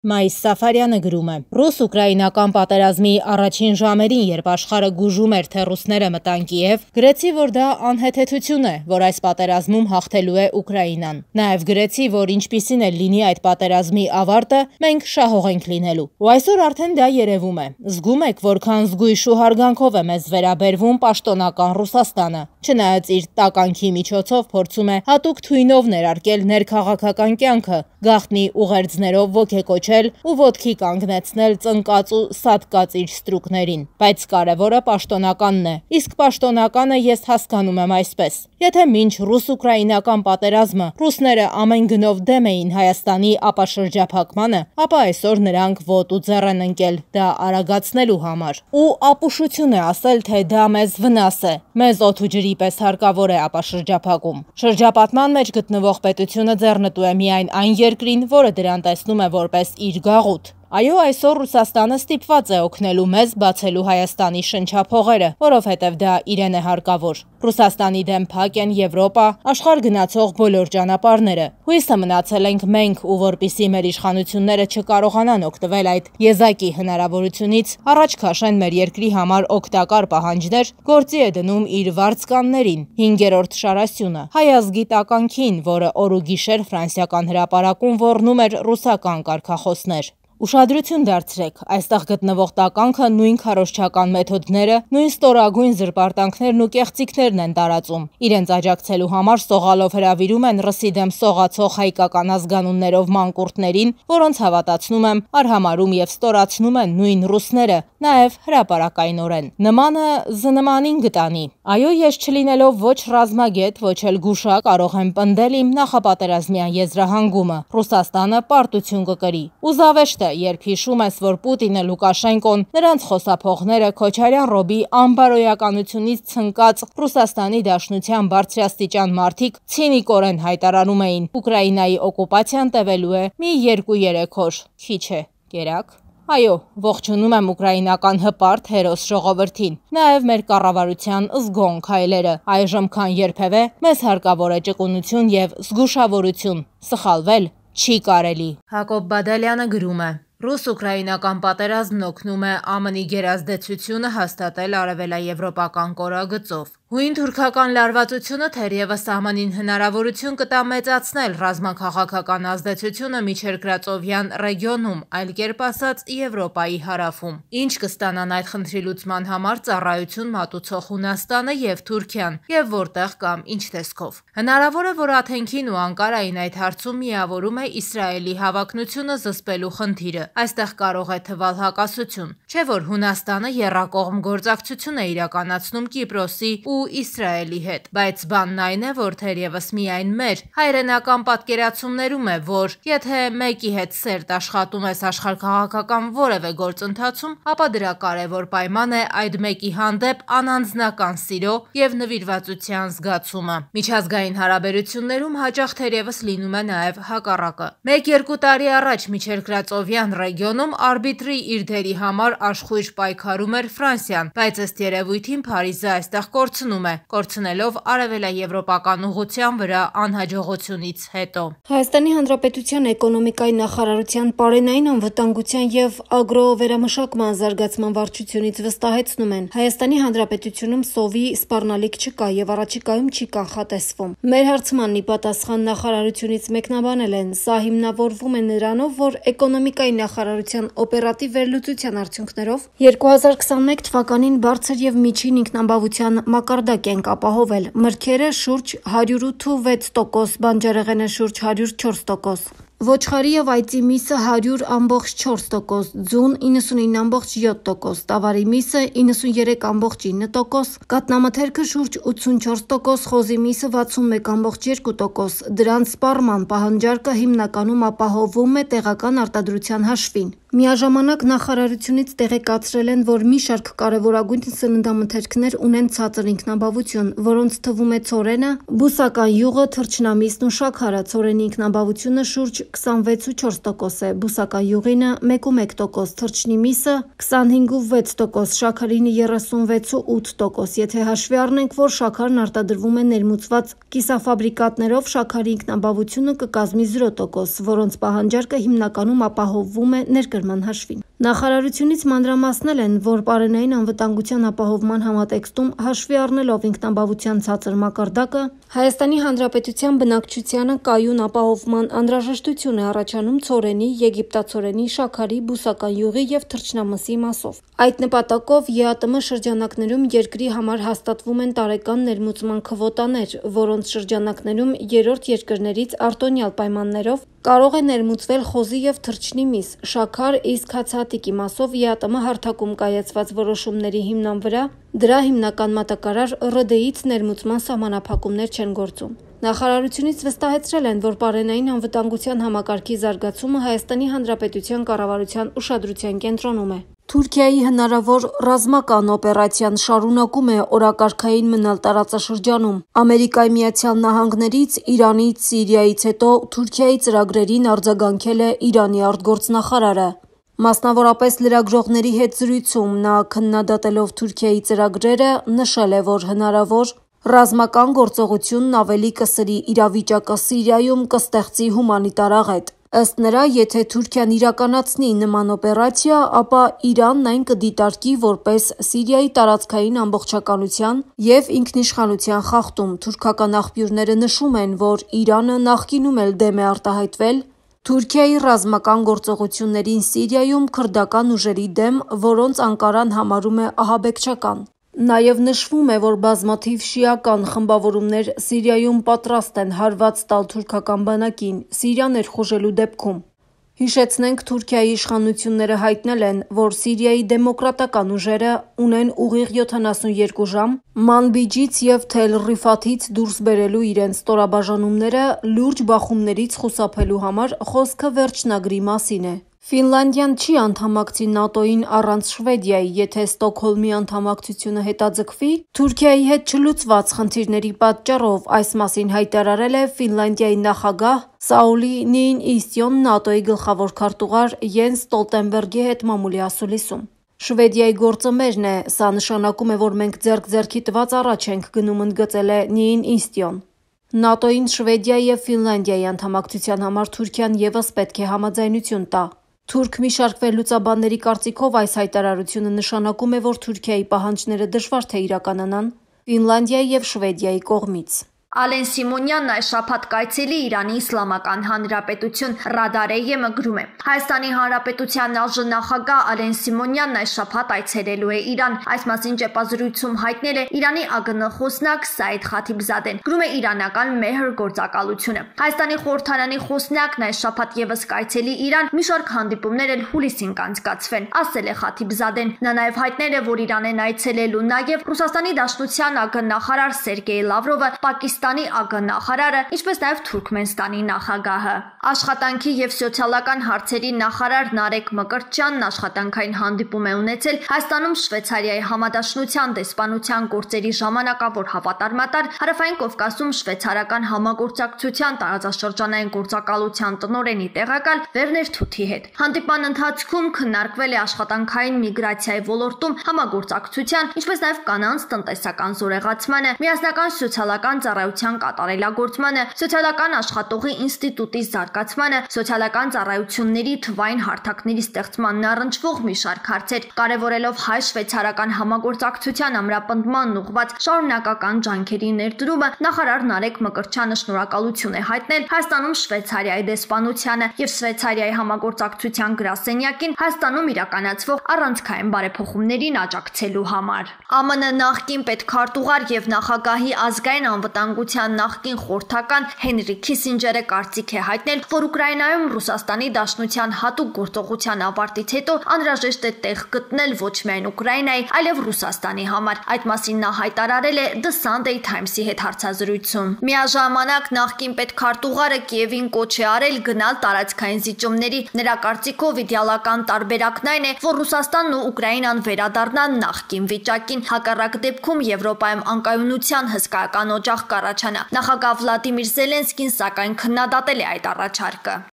Մայիս Սաֆարյանը գրում է. Ռուս-ուկրաինական պատերազմի առաջին ժամերին, երբ աշխարհը գուժում էր, թե ռուսները մտան Կիև, գրեցի, որ դա անհեթեթություն է, որ այս պատերազմում հաղթելու է Ուկրաինան։ Նաև գրեցի, որ ինչպիսին էլ լինի այդ պատերազմի ավարտը, մենք շահող ենք լինելու։ Ու այսօր արդեն դա երևում է։ Զգում եք, որքան զգույշ ու հարգանքով է մեզ վերաբերվում պաշտոնական Ռուսաստանը։ Չնայած իր տականքի միջոցով փորձում է հատուկ թույնով ներարկել ներքաղաքական կյանքը, գաղտնի ուղերձներով ոգեկոչել ու ոտքի կանգնեցնել ծնկած ու սատկած իր ստրուկներին։ Բայց կարևորը պաշտոնականն է, իսկ պաշտոնականը ես հասկանում եմ այսպես. Եթե մինչ ռուս-ուկրաինական պատերազմը ռուսները ամեն գնով դեմ էին Հայաստանի ապաշրջափակմանը, ապա այսօր նրանք ոտու ձեռ են ընկել դա արագացնելու համար։ Ու ապուշություն է ասել, թե դա մեզ վնաս է, մեզ օդ ու ջրի պես հարկավոր է ապաշրջափակում։ Շրջապատման մեջ գտնվող պետությունը ձեռնտու է միայն այն երկրին, որը դրան տեսնում է որպես իր գաղութ։ Այո, այսօր Ռուսաստանը ստիպված է օգնելու մեզ բացելու Հայաստանի շնչափողերը, որովհետև դա իրեն է հարկավոր։ Ռուսաստանի դեմ փակ են Եվրոպա, աշխարհ գնացող բոլոր ճանապարհները։ Հույսը մնացել ենք մենք, ու որպիսի մեր իշխանությունները չկարողանան օգտվել այդ եզակի հնարավորությունից, առաջ քաշեն մեր երկրի համար օգտակար պահանջներ, գործի է դնում իր վարձկաններին, 5-րդ շարասյունը, հայ ազգի տականքին, որը օր ու գիշեր ֆրանսիական հրապարակում ոռնում էր ռուսական կարգախոսներ։ Ուշադրություն դարձրեք, այստեղ գտնվող տականքը նույն քարոզչական մեթոդները, նույն ստորագույն զրպարտանքներն ու կեղծիքներն են տարածում։ Իրենց աջակցելու համար սողալով հրավիրում են ռսի դեմ սողացող հայկական ազգանուններով մանկուրտներին, որոնց հավատացնում եմ, արհամարում եւ ստորացնում են նույն ռուսները, նաեւ հրապարակայնորեն։ Նմանը զնմանին գտանի։ Այո, ես չլինելով ոչ ռազմագետ, ոչ էլ գուշա կարող եմ պնդել իմ նախապատերազմյան եզրահանգումը։ Ռուսաստանը պարտություն կկրի։ Ու զավեշտ երբ հիշում ես, որ Պուտինը, Լուկաշենկոն, նրանց խոսափողները Քոչարյան Ռոբի ամբարոյականությունից ցնկած Ռուսաստանի Դաշնության բարձրաստիճան մարդիկ ցինիկորեն հայտարարում էին Ուկրաինայի օկուպացիան տևելու է մի 2-3 օր, քիչ է, կերակ։ Այո, ողջունում եմ ուկրաինական հպարտ հերոս ժողովրդին, նաև մեր կառավարության զգոն քայլերը, այժմ քան երբևէ մեզ հարկավոր է ճկունություն եւ զգուշավորություն, սխալվել չի կարելի։ Հակոբ Բադալյանը գրում է. Ռուս-ուկրաինական պատերազմն օգնում է ԱՄՆ-ի գերազդեցությունը հաստատել արևելաեվրոպական կորագծով։ Հույն թուրքական լարվածությունը թերևս ԱՄՆ-ին հնարավորություն կտա մեծացնել ռազմաքաղաքական ազդեցությունը միջերկրածովյան ռեգիոնում, այլ կերպ ասած Եվրոպայի հարավում։ Ինչ կստանան այդ խնդրի լուծման համար ծառայություն մատուցող Հունաստանը եւ Թուրքիան, եւ որտեղ կամ ինչ տեսքով։ Հնարավոր է, որ Աթենքին ու Անկարային այդ հարցում միավորում է Իսրայելի հավակնությունը զսպելու խնդիրը։ Այստեղ կարող է թվալ հակասություն, չէ՞ որ Հունաստանը եռակողմ գործակցություն է իրականացնում Կիպրոսի ու Իսրայելի հետ, բայց բանն այն է, որ թերևս միայն մեր հայրենական պատկերացումներում է, որ եթե մեկի հետ սերտ աշխատում ես աշխարհքաղաքական որևէ գործընթացում, ապա դրա կարևոր պայման է այդ մեկի հանդեպ անանձնական սիրո եւ նվիրվածության զգացումը։ Միջազգային հարաբերություններում հաճախ թերևս լինում է նաեւ հակառակը։ 1-2 տարի առաջ միջերկրածովյան ռեգիոնում արբիտրի իր դերի համար աշխույժ պայքարում էր Ֆրանսիան, բայց ըստ երևույթին Փարիզը այստեղ կորցնում է, կորցնելով արևելաեվրոպական ուղղության վրա անհաջողությունից հետո։ Հայաստանի Հանրապետության էկոնոմիկայի նախարարության պարենային անվտանգության եւ ագրովերամշակման զարգացման վարչությունից վստահեցնում են, Հայաստանի Հանրապետությունում սովի սպառնալիք չկա եւ առաջիկայում չի կանխատեսվում։ Մեր հարցմանն ի պատասխան նախարարությունից մեկնաբանել են, սա հիմնավորվում է նրանով, որ էկոնոմիկայի նախարարության օպերատիվ վերլուծության արդյունքներով 2021 թվականին բարձր եւ միջին ինքնաբավության մակարդակ ենք ապահովել, մրգերը շուրջ 108.6%, բանջարեղենը շուրջ 104%, ոչխարի եւ այծի միսը 100.4%, ձուն 99.7%, տավարի միսը 93.9%, կատնամթերքը շուրջ 84%, խոզի միսը 61.2%, դրանց սպառման պահանջարկը հիմնականում ապահովում է տեղական արտադրության հաշվին։ Միաժամանակ նախարարությունից տեղեկացրել են, որ մի շարք կարևորագույն սննդամթերքներ ունեն ցածր ինքնաբավություն, որոնց թվում է ցորենը, բուսական յուղը, թռչնամիսն ու շաքարը, ցորենի ինքնաբավությունը շուրջ 26,4% է, բուսական յուղինը 1,1%, թռչնի միսը 25,6%, շաքարինը 36,8%, եթե հաշվի առնենք, որ շաքարն արտադրվում է ներմուծված կիսաֆաբրիկատներով, շաքարի ինքնաբավությունը կկազմի 0%, որոնց պահանջարկը հիմնականում ապահովվում է ներկրման հաշվին։ Նախարարությունից մանրամասնել են, որ պարենային անվտանգության ապահովման համատեքստում հաշվի առնելով ինքնաբավության ցածր մակարդակը, Հայաստանի Հանրապետության բնակչությանը կայուն ապահովման անհրաժեշտություն է առաջանում ցորենի, եգիպտացորենի, շաքարի, բուսական յուղի և թռչնամսի մասով։ Այդ նպատակով ԵԱՏՄ շրջանակներում երկրի համար հաստատվում են տարեկան ներմուծման քվոտաներ, որոնց շրջանակներում երրորդ երկրներից արտոնյալ պայմաններով կարող է ներմուծվել խոզի և թռչնի միս, շաքար, իսկ հացահատիկի մասով ԵԱՏՄ հարթակում կայացված որոշումների հիման վրա դրա հիմնական մատակարար ՌԴ-ից ներմուծման սահմանափակումներ չեն գործում։ Նախարարությունից վստահեցրել են, որ պարենային անվտանգության համակարգի զարգացումը Հայաստանի Հանրապետության կառավարության ուշադրության կենտրոնում է։ Թուրքիայի հնարավոր ռազմական օպերացիան շարունակում է օրակարգային մնալ տարածաշրջանում։ Ամերիկայի Միացյալ Նահանգներից, Իրանից, Սիրիայից հետո Թուրքիայի ծրագրերին արձագանքել է Իրանի արտգործնախարարը։ Մասնավորապես լրագրողների հետ զրույցում նա քննադատելով Թուրքիայի ծրագրերը նշել է, որ հնարավոր ռազմական գործողությունն ավելի կսրի իրավիճակը Սիրիայում, կստեղծի հումանիտար աղետ։ Ըստ նրա, եթե Թուրքիան իրականացնի նման օպերացիա, ապա Իրանն այն կդիտարկի որպես Սիրիայի տարածքային ամբողջականության և ինքնիշխանության խախտում։ Թուրքական աղբյուրները նշում են, որ Իրանը նախկինում էլ դեմ է արտահայտվել Թուրքիայի ռազմական գործողություններին Սիրիայում քրդական ուժերի դեմ, որոնց Անկարան համարում է ահաբեկչական։ Նաև նշվում է, որ բազմաթիվ շիական խմբավորումներ Սիրիայում պատրաստ են հարված տալ թուրքական բանակին Սիրիա ներխուժելու դեպքում։ Հիշեցնենք, Թուրքիայի իշխանությունները հայտնել են, որ Սիրիայի դեմոկրատական ուժերը ունեն ուղիղ 72 ժամ Մանբիջից և Թել Ռիֆաթից դուրս բերելու իրենց ստորաբաժանումները լուրջ բախումներից խուսափելու համար, խոսքը վերջնագրի մասին է։ Ֆինլանդիան չի անդամակցի ՆԱՏՕ-ին առանց Շվեդիայի, եթե Ստոկհոլմի անդամակցությունը հետաձգվի, Թուրքիայի հետ չլուծված խնդիրների պատճառով, այս մասին հայտարարել է Ֆինլանդիայի նախագահ Սաուլի Նիինիստյոն ՆԱՏՕ-ի գլխավոր քարտուղար Յենս Ստոլտենբերգի հետ մամուլի ասուլիսում։ Շվեդիայի գործը մերն է, սա նշանակում է, որ մենք ձեռք-ձեռքի տված առաջ ենք գնում, ընդգծել է Նիինիստյոն։ ՆԱՏՕ-ին Շվեդիայի և Ֆինլանդիայի անդամակցության համար Թուրքիան ևս պետք է համաձայնություն տա։ Թուրք մի շարք վերլուծաբանների կարծիքով այս հայտարարությունը նշանակում է, որ Թուրքիայի պահանջները դժվար թե իրականանան Ֆինլանդիայի և Շվեդիայի կողմից։ Ալեն Սիմոնյանն այս շաբաթ կայցելի Իրանի Իսլամական Հանրապետություն Ռադար-ԵՄ գրում է. Հայաստանի Հանրապետության նախագահ Ալեն Սիմոնյանն այս շաբաթ այցելելու է Իրան։ Այս մասին ճեպազրույցում հայտնել է Իրանի ԱԳՆ խոսնակ Սայիդ Խաթիբզադեն։ Գրում է իրանական Մեհր գործակալությունը։ Հայաստանի խորհրդարանի խոսնակն այս շաբաթ ևս կայցելի Իրան, մի շարք հանդիպումներ էլ հուլիսին կանցկացվեն, ասել է Խաթիբզադեն։ Նա նաև հայտնել է, որ Իրան են այցելելու նաև Ռուսաստանի Դաշնության ԱԳ նախարար Սերգեյ Լավրովը, Պակիստանի ԱԳ նախարարը, ինչպես նաև Թուրքմենստանի նախագահը։ Աշխատանքի և սոցիալական հարցերի նախարար Նարեկ Մկրտչյանն աշխատանքային հանդիպում է ունեցել Հայաստանում Շվեյցարիայի համադաշնության դեսպանության գործերի ժամանակավոր հավատարմատար, Հարավային Կովկասում շվեյցարական համագործակցության տարածաշրջանային գործակալության տնօրենի տեղակալ Վերներ Թութի հետ։ Հանդիպման ընթացքում քննարկվել է աշխատանքային միգրացիայի ոլորտում համագործակցության, ինչպես նաև կանանց տնտեսական զորեղացմանը, միասնական սոցիալական ծառայության կատարելագործմանը, սոցիալական աշխատողի ինստիտուտի զարգացմանը, սոցիալական ծառայությունների թվային հարթակների ստեղծմանն առնչվող մի շարք հարցեր, կարևորելով հայ-շվեյցարական համագործակցության ամրապնդմանն ուղղված շարունակական ջանքերի ներդրումը, նախարար Նարեկ Մկրտչյանը շնորհակալություն է հայտնել Հայաստանում Շվեյցարիայի դեսպանությանը և Շվեյցարիայի համագործակցության գրասենյակին Հայաստանում իրականացվող առանցքային բարեփոխումներին աջակցելու համար։ ԱՄՆ նախկին պետքարտուղար և նախագահի ազգային անվտանգության նախկին խորհրդական Հենրի Քիսինջերը կարծիք է հայտնել, որ Ուկրաինայում Ռուսաստանի Դաշնության հատուկ գործողության ավարտից հետո անհրաժեշտ է տեղ գտնել ոչ միայն Ուկրաինայի, այլև Ռուսաստանի համար։ Այդ մասին նա հայտարարել է The Sunday Times-ի հետ հարցազրույցում։ Միաժամանակ նախկին պետքարտուղարը Կիևին կոչ է արել գնալ տարածքային զիջումների։ Նրա կարծիքով իդեալական տարբերակն այն է, որ Ռուսաստանն ու Ուկրաինան վերադառնան նախկին վիճակին։ Հակառակ դեպքում Եվրոպայում անկայունության հսկայական օջախ կառաջանա։ Նախագահ Վլադիմիր Զելենսկին սակայն քննադատել է այդ առաջարկը։